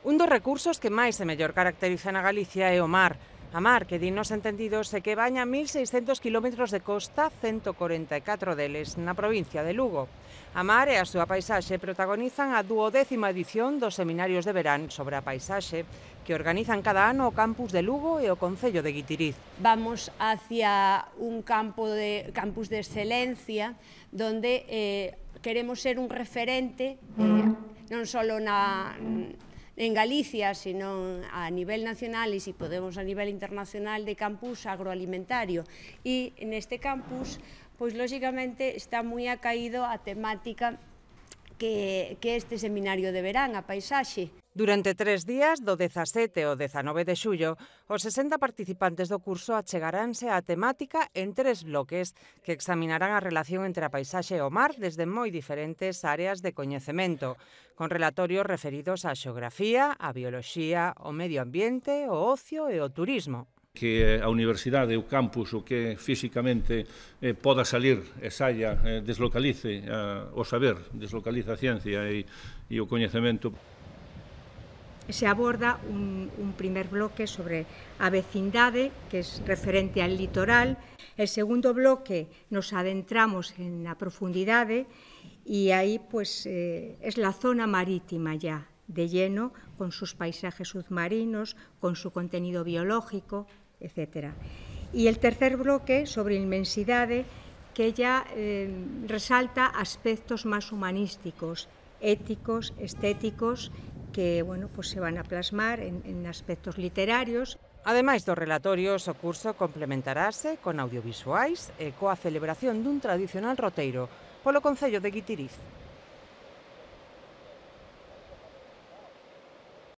Un dos recursos que máis e mellor caracterizan a Galicia é o mar. A mar, que din nos entendidos, é que baña 1.600 kilómetros de costa, 144 deles na provincia de Lugo. A mar e a súa paisaxe protagonizan a 12ª edición dos seminarios de verán sobre a paisaxe que organizan cada ano o campus de Lugo e o concello de Guitiriz. Vamos hacia un campus de excelencia donde queremos ser un referente non só en Galicia, sino a nivel nacional e, se podemos, a nivel internacional de campus agroalimentario. E neste campus, pois, lógicamente, está moi acaído a temática que este seminario de verán, a paisaxe. Durante 3 días, do 17 ao 19 de xullo, os 60 participantes do curso achegaránse á temática en 3 bloques que examinarán a relación entre a paisaxe e o mar desde moi diferentes áreas de coñecemento, con relatorios referidos á xeografía, á bioloxía, ao medio ambiente, o ocio e o turismo. Que a universidade, o campus, o que físicamente poda salir e saia, deslocalice o saber, deslocalice a ciencia e o coñecemento. Se aborda un primer bloque sobre a vecindade, que é referente al litoral. El segundo bloque nos adentramos en a profundidade e aí pues, es la zona marítima ya, de lleno, con sus paisajes submarinos, con su contenido biológico, etc. Y el tercer bloque sobre inmensidade, que ya resalta aspectos más humanísticos, éticos, estéticos, que bueno, pues se van a plasmar en aspectos literarios. Ademais dos relatorios, o curso complementarase con audiovisuais e coa celebración dun tradicional roteiro polo concello de Guitiriz.